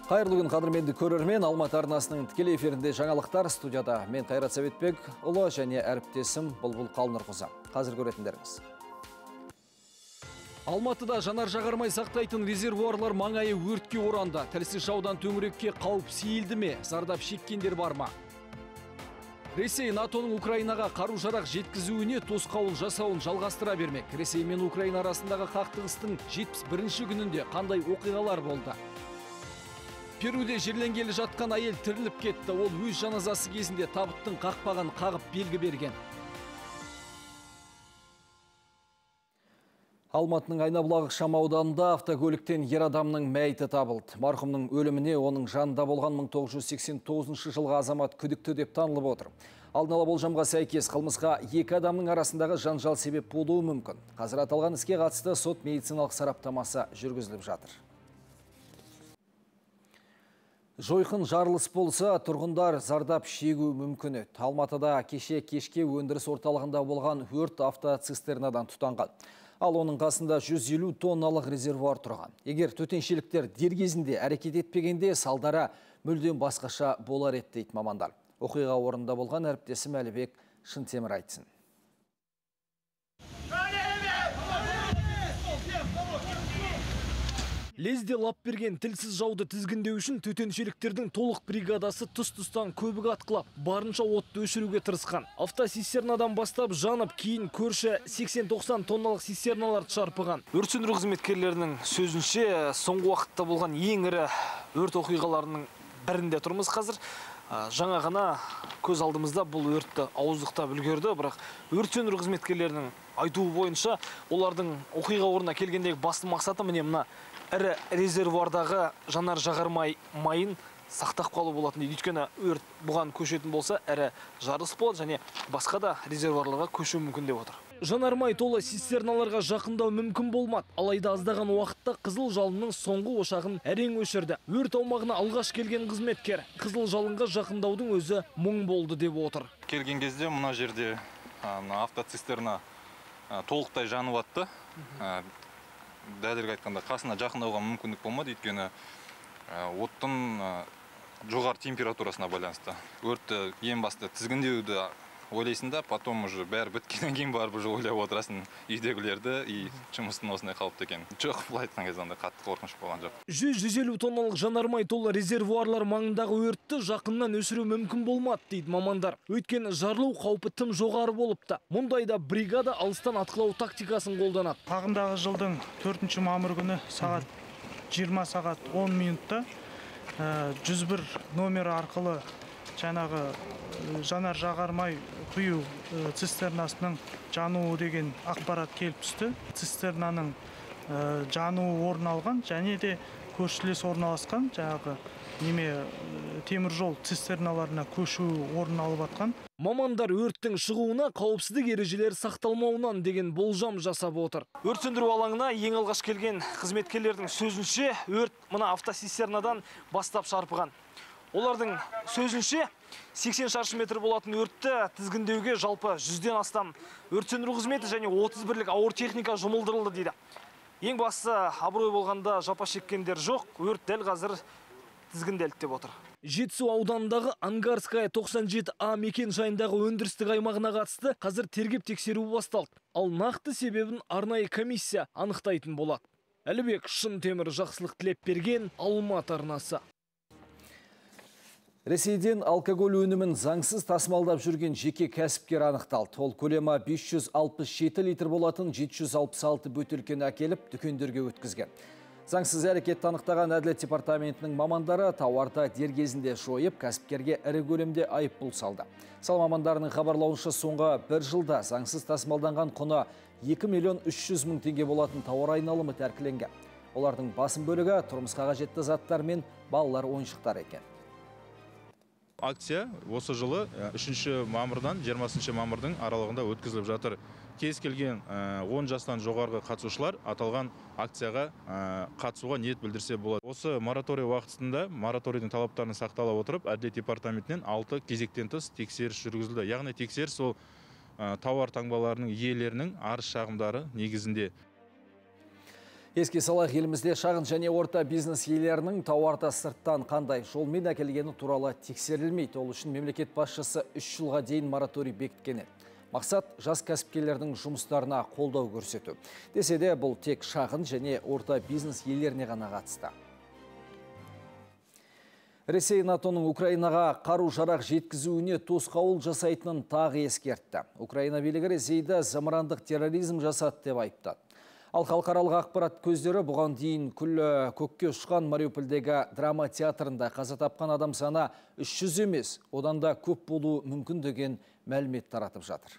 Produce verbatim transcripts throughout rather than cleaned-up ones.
Қайырлы күн қадірменді көрермен, Алматы арнасының тікелей эфирінде жаңалықтар. Студияда мен Қайрат Сәбетбек ұлы және әріптесім Бұлбұл Қалнұрқызы. Қазір көретіндеріңіз. Алматыда жанар жағармай сақтайтын резервуарлар маңайы өртке оранды. Тілсіз жаудан төңірекке қауіп сейілді ме? Зардап шеккендер бар ма? Ресей НАТОның Украинаға қару-жарақ жеткізуіне тосқауыл жасауын жалғастыра бермек. Ресей мен Украина арасындағы қақтығыстың жетпіс бірінші күнінде қандай оқиғалар болды? Перуде жерленгелі жатқан әйел тіріліп кетті. Ол өз жаназасы кезінде табыттың қақпағын қағып белгі берген. Алматының Айнабұлақ шамауданында автокөліктен ер адамның мәйіті табылды. Марқұмның өліміне оның жанында болған мың тоғыз жүз сексен тоғызыншы жылғы азамат күдікті деп танылып отыр. Алдын ала болжамға сәйкес қылмысқа екі адамның арасындағы жанжал себеп болуы мүмкін. Қазір аталған іске қатысты сот медициналық сараптамасы жүргізіліп жатыр. Жойқын жарылыс болса, тұрғындар зардап шегу мүмкін еді. Алматыда кеше кешке өндіріс орталығында болған өрт автоцистернадан тұтанған. Ал оның қасында жүз елу тонналық резервуар тұрған. Егер төтеншеліктер дер кезінде әрекет етпегенде, салдары мүлдем басқаша болар еді дейді мамандар. Оқиға орнында болған әріптесім Әлібек Шынтемір айтсын. Лезде лап берген тілсіз жауды тізгіндеу үшін төтеншеліктердің толық бригадасы тұс-тұстан көбік атқылап, барынша отты өшіруге тырысқан. Автоцистернадан бастап жанып, кейін көрші сексен тоқсан тонналық цистерналарды шарпыған. Өрт сөндіру қызметкерлерінің сөзінше, соңғы уақытта болған ең ірі өрт оқиғаларының бірінде тұрмыз қазір. Жаңа ғана көз алдымызда бұл өртті ауыздықтап үлгерді, бірақ өрт сөндіру қызметкерлерінің айтуы бойынша, олардың оқиға орнына келгендегі басты мақсаты міне мына ірі резервуардағы жанар жағармай майын сақтап қалу болатын дейді. Өйткені өрт бұған көшетін болса, ірі жарылыс болады және басқа да резервуарларға көшу мүмкін деп отыр. Жанармай толы цистерналарға жақындау мүмкін болмады. Алайда аздаған уақытта қызыл жалынның соңғы ошағын әрең өшірді. Өрт аумағына алғаш келген қызметкер қызыл жалынға жақындаудың өзі мұң болды деп отыр. Келген кезде мына жерде автоцистерна толықтай жанып атты. Дәлірек айтқанда қасына жақындауға мүмкіндік болмады, өйткені оттың жоғары температурасына байланысты. Өртті ең басты тізгіндеуді ойлайсың да, потом уже бәрі біткеннен кейін барып уже ойлап отырасың үйдегілерді и жұмыстың осындай қалыпты екенін. Жоқ, былай айтқан кезде андай қатты қорқыныш болған жоқ. жүз елу тонналық жанармай толы резервуарлар маңындағы өртті жақыннан өшіру мүмкін болмады дейді мамандар. Өйткені жарылу қаупі тым жоғары болыпты. Мұндайда бригада алыстан атқылау тактикасын қолданады. Ағымдағы жылдың төртінші мамыр күні сағат жиырма сағат он минутта жүз бір номері арқылы жаңағы жанар жағармай құю цистернасының жануы деген ақпарат келіп түсті. Цистернаның жануы орын алған және де көршілес орналасқан жаңағы неме теміржол цистерналарына көшу орын алып атқан. Мамандар өрттің шығуына қауіпсіздік ережелері сақталмауынан деген болжам жасап отыр. Өрт сөндіру алаңына ең алғаш келген қызметкерлердің сөзінше, өрт мына автоцистернадан бастап шарпыған. Олардың сөзінше сексен шаршы метр болатын өртті тізгіндеуге жалпы жүзден астам өрт сөндіру қызметі және отыз бірлік ауыр техника жұмылдырылды дейді. Ең бастысы абырой болғанда жапа шеккендер жоқ, өрт дәл қазір тізгінделді деп отыр. Жетісу ауданындағы Ангарская тоқсан жеті А мекен жайындағы өндірістік аймағына қатысты қазір тергеп тексеру басталды. Ал нақты себебін арнайы комиссия анықтайтын болады. Әлібек Шынтемір, Жақсылық Тілепберген, Алматы арнасы. Ресейден алкоголь өнімін заңсыз тасымалдап жүрген жеке кәсіпкер анықталды. Ол көлемі бес жүз алпыс жеті литр болатын жеті жүз алпыс алты бөтелкені әкеліп дүкендерге өткізген. Заңсыз әрекетті анықтаған Әділет департаментінің мамандары тауарды дер кезінде жойып, кәсіпкерге ірі көлемде айыппұл салды. Сала мамандарының хабарлауынша соңғы бір жылда заңсыз тасымалданған құны екі миллион үш жүз мың теңге болатын тауар айналымы тәркіленген. Олардың басым бөлігі тұрмысқа қажетті заттар мен балалар ойыншықтары екен. Акция осы жылы үшінші мамырдан жиырмасыншы мамырдың аралығында өткізіліп жатыр. Кез келген он жастан жоғарғы қатысушылар аталған акцияға қатысуға ниет білдірсе болады. Осы мораторий уақытысында мораторийдің талаптарын сақтала отырып, Әділет департаментінен алты кезектен тыс тексеріс жүргізілді. Яғни тексеріс ол тауар таңбаларының иелерінің арыз шағымдары негізінде. Еске салайық, елімізде шағын және орта бизнес иелерінің тауарды сырттан қандай жолмен әкелгені туралы тексерілмейді. Ол үшін мемлекет басшысы үш жылға дейін мораторий бекіткен еді. Мақсат жас кәсіпкерлердің жұмыстарына қолдау көрсету. Десе де бұл тек шағын және орта бизнес иелеріне ғана қатысты. Ресей НАТОның Украинаға қару-жарақ жеткізуіне тосқауыл жасайтынын тағы ескертті. Украина билігі Ресейді зымырандық терроризм жасады деп айыптады. Ал халықаралық ақпарат көздері бұған дейін күлі көкке ұшқан Мариупольдегі драма театрында қаза тапқан адам саны үш жүз емес, одан да көп болуы мүмкін деген мәлімет таратып жатыр.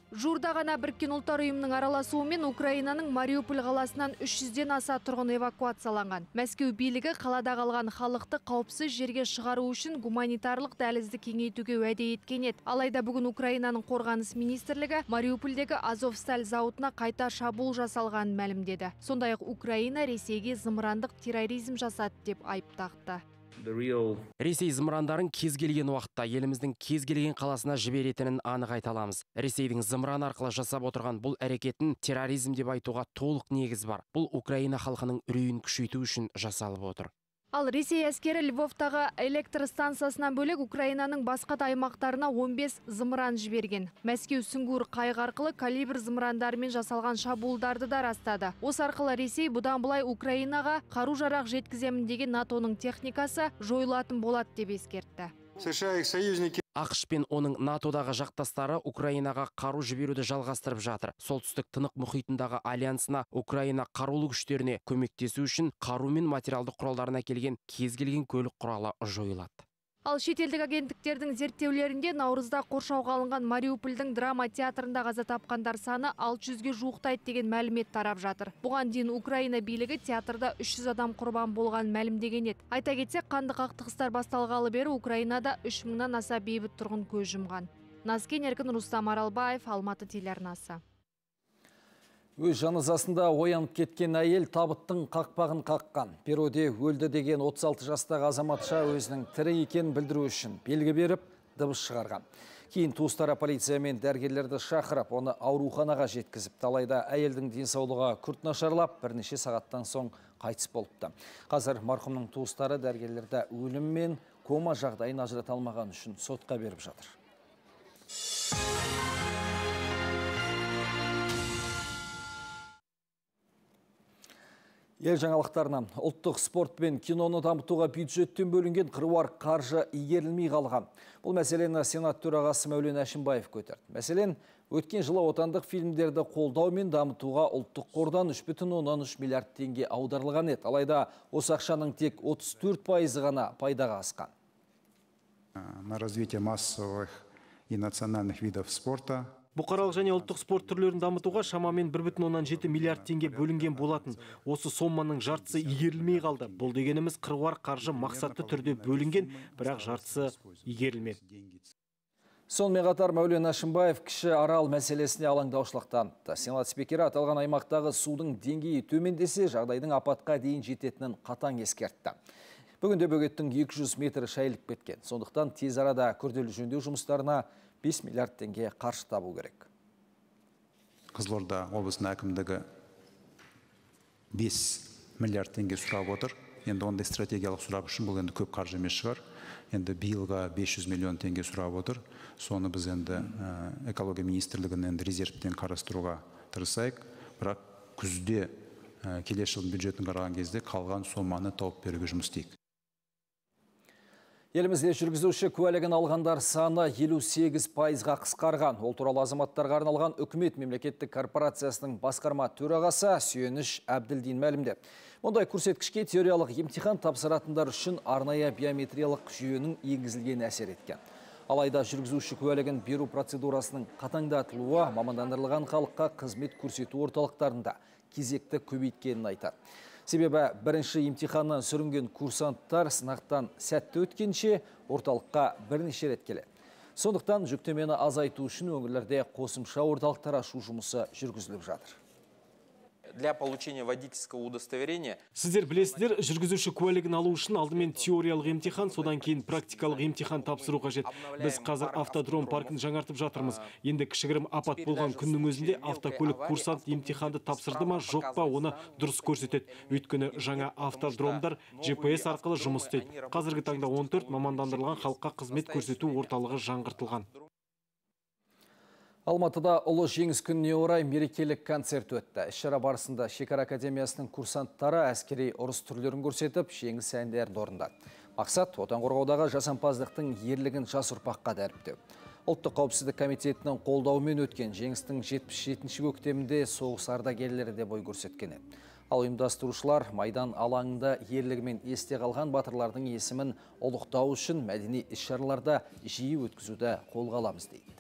Жуырда ғана Біріккен ұлттар ұйымының араласуымен Украинаның Мариуполь қаласынан үш жүзден аса тұрғын эвакуацияланған. Мәскеу билігі қалада қалған халықты қауіпсіз жерге шығару үшін гуманитарлық дәлізді кеңейтуге уәде еткен еді. Алайда бүгін Украинаның қорғаныс министрлігі Мариупольдегі Азовсталь зауытына қайта шабуыл жасалғанын мәлімдеді. Сондай-ақ Украина Ресейге зымырандық терроризм жасады деп айып тақты. Ресей зымырандарын кез келген уақытта еліміздің кез келген қаласына жіберетінін анық айта аламыз. Ресейдің зымыран арқылы жасап отырған бұл әрекетін терроризм деп айтуға толық негіз бар. Бұл Украина халқының үрейін күшейту үшін жасалып отыр. Ал Ресей әскері Львовтағы электр станциясынан бөлек Украинаның басқа да аймақтарына он бес зымыран жіберген. Мәскеу сүңгуір қайық арқылы калибр зымырандарымен жасалған шабуылдарды да растады. Осы арқылы Ресей бұдан былай Украинаға қару-жарақ жеткіземін деген НАТОның техникасы жойылатын болады деп ескертті. ақш пен оның натодағы жақтастары Украинаға қару жіберуді жалғастырып жатыр. Солтүстік тынық мұхитындағы альянсына Украина қарулы күштеріне көмектесу үшін қару мен материалды құралдарына келген кез келген көлік құралы жойылады. Ал шетелдік агенттіктердің зерттеулерінде наурызда қоршауға алынған Мариупольдің драма театрында қаза тапқандар саны алты жүзге жуықтайды деген мәлімет тарап жатыр. Бұған дейін Украина билігі театрда үш жүз адам құрбан болған мәлімдеген еді. Айта кетсек, қанды қақтығыстар басталғалы бері Украинада үш мыңнан аса бейбіт тұрғын көз жұмған. Назкен Еркін, Рустам Аралбаев, Алматы телеарнасы. Өз жаназасында оянып кеткен әйел табыттың қақпағын қаққан. Перуде өлді деген отыз алты жастағы азаматша өзінің тірі екенін білдіру үшін белгі беріп, дыбыс шығарған. Кейін туыстары полиция мен дәрігерлерді шақырып, оны ауруханаға жеткізіп, алайда әйелдің денсаулығы күрт нашарлап, бірнеше сағаттан соң қайтыс болыпты. Қазір марқұмның туыстары дәрігерлерді өлім мен кома жағдайын ажырата алмаған үшін сотқа беріп жатыр. Ел жаңалықтарына, ұлттық спорт пен киноны дамытуға бюджеттен бөлінген қыруар қаржы игерілмей қалған. Бұл мәселені Сенат төрағасы Мәулен Әшімбаев көтерді. Мәселен, өткен жылы отандық фильмдерді қолдау мен дамытуға ұлттық қордан үш бүтін оннан үш миллиард теңге аударылған еді. Алайда осы ақшаның тек отыз төрт пайызы ғана пайдаға асқан. На развитие массовых и национальных видов спорта. Бұқаралық және ұлттық спорт түрлерін дамытуға шамамен бір бүтін оннан жеті миллиард теңге бөлінген болатын. Осы соманың жартысы игерілмей қалды. Бұл дегеніміз қыруар қаржы мақсатты түрде бөлінген, бірақ жартысы игерілмеді. Сонымен қатар Мәулен Әшімбаев кіші арал мәселесіне алаңдаушылық танытты. Сенат спикері аталған аймақтағы судың деңгейі төмендесе, жағдайдың апатқа дейін жететінін қатаң ескертті. Бүгінде бөгеттің екі жүз метр шайылып кеткен. Сондықтан тез арада күрделі жөндеу жұмыстарына бес миллиард теңге қаржы табу керек. Қызылорда облысының әкімдігі бес миллиард теңге сұрап отыр. Енді ондай стратегиялық сұрақ үшін бұл енді көп қаржы емес шығар. Енді биылға бес жүз миллион теңге сұрап отыр. Соны біз енді экология министрлігінің енді резервтен қарастыруға тырысайық. Бірақ күзде келесі жылдың бюджетін қараған кезде қалған соманы тауып беруге жұмыс істейік. Елімізде жүргізуші куәлігін алғандар саны елу сегіз пайызға қысқарған. Ол туралы азаматтарға арналған үкімет мемлекеттік корпорациясының басқарма төрағасы Сүйеніш Әбділдин мәлімдеді. Мұндай көрсеткішке теориялық емтихан тапсыратындар үшін арнайы биометриялық жүйенің енгізілген әсер еткен. Алайда жүргізуші куәлігін беру процедурасының қатаңдатылуы мамандандырылған халыққа қызмет көрсету орталықтарында кезекті көбейткенін айтады. Себебі бірінші емтиханнан сүрінген курсанттар сынақтан сәтті өткенше орталыққа бірнеше рет келеді. Сондықтан жүктемені азайту үшін өңірлерде қосымша орталықтар ашу жұмысы жүргізіліп жатыр. для получения водительского удостоверения. Сіздер білесіздер, жүргізуші куәлігін алу үшін алдымен теориялық емтихан, содан кейін практикалық емтихан тапсыру қажет. Біз қазір автодром паркін жаңартып жатырмыз. Енді кішігірім апат болған күннің өзінде автокөлік курсант емтиханды тапсырды ма, жоқ па, оны дұрыс көрсетеді. Өйткені жаңа автодромдар джи пи эс арқылы жұмыс істейді. Қазіргі таңда он төрт мамандандырылған халыққа қызмет көрсету орталығы жаңғыртылған. Алматыда ұлы жеңіс күніне орай мерекелік концерт өтті. Іс-шара барысында Шекара академиясының курсанттары әскери ұрыс түрлерін көрсетіп, жеңіс әндерді орындады. Мақсат отан қорғаудағы жасампаздықтың ерлігін жас ұрпаққа дәріптеу. Ұлттық қауіпсіздік комитетінің қолдауымен өткен жеңістің жетпіс жетінші көктемінде соғыс ардагерлері де бой көрсеткен еді. Ал ұйымдастырушылар майдан алаңында ерлігімен есте қалған батырлардың есімін ұлықтау үшін мәдени іс-шараларда жиі өткізуді қолға аламыз дейді.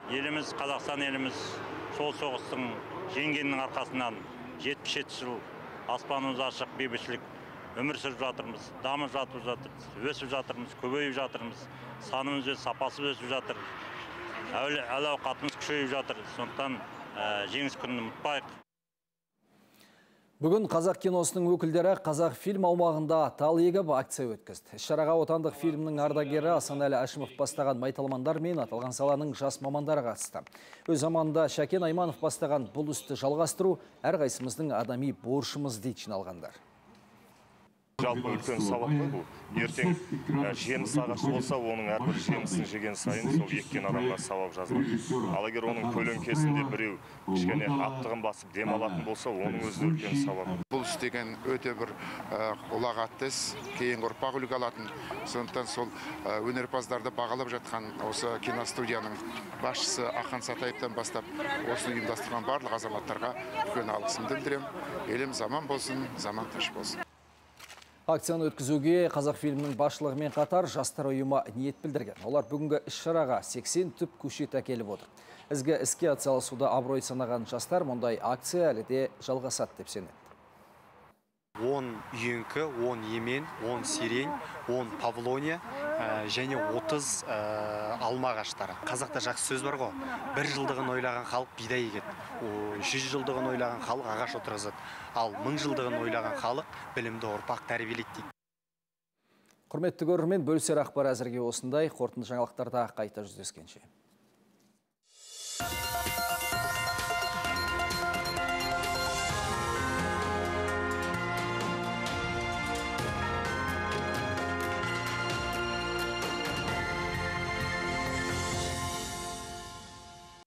Еліміз, Қазақстан еліміз сол соғыстың жеңгенінің арқасынан жетпіс жеті жыл аспанымыз ашық, бейбітшілік өмір сүріп жатырмыз, дамып жатып жатырмыз, өсіп жатырмыз, көбейіп жатырмыз, санымыз өсіп, сапасы өсіп жатыр, әл-ауқатымыз күшейіп жатыр. Сондықтан жеңіс күнін ұмытпайық. Бүгін қазақ киносының өкілдері қазақ фильм аумағында тал егіп акция өткізді. Іс-шараға отандық фильмнің ардагері Асанәлі Әшімов бастаған майталмандар мен аталған саланың жас мамандары қатысты. Өз заманында Шәкен Айманов бастаған бұл істі жалғастыру әрқайсымыздың адами борышымыз дейді жиналғандар. Жалпы үлкен сабақ қой бұл. Ертең жеміс ағашы болса, оның әрбір жемісін жеген сайын сол еккен адамға сауап жазылады. Ал егер оның көлеңкесінде біреу кішкене аптығын басып демалатын болса, оның өзі үлкен сауап. Бұл істеген өте бір ұлағатты іс, кейінгі ұрпақ үлгі алатын. Сондықтан сол өнерпаздарды бағалап жатқан осы киностудияның басшысы Ақан Сатаевтан бастап осыны ұйымдастырған барлық азаматтарға үлкен алғысымды білдіремін. Еліміз аман болсын, заман тыныш болсын. Акцияны өткізуге Қазақфильмнің басшылығымен қатар жастар ұйымы ниет білдірген. Олар бүгінгі іс-шараға сексен түп көшет әкеліп отыр. Ізгі іске атсалысуда абырой санаған жастар мұндай акция әлі де жалғасады деп сенеді. он үйеңкі, он емен, он сирень, он павлония және отыз алма ағаштары. Қазақта жақсы сөз бар ғой, бір жылдығын ойлаған халық бидай егеді, жүз жылдығын ойлаған халық ағаш отырғызады, ал мың жылдығын ойлаған халық білімді ұрпақ тәрбиелейді дейді. Құрметті көрермен, бөлісер ақпар әзірге осындай. Қорытынды жаңалықтарда қайта жүздескенше.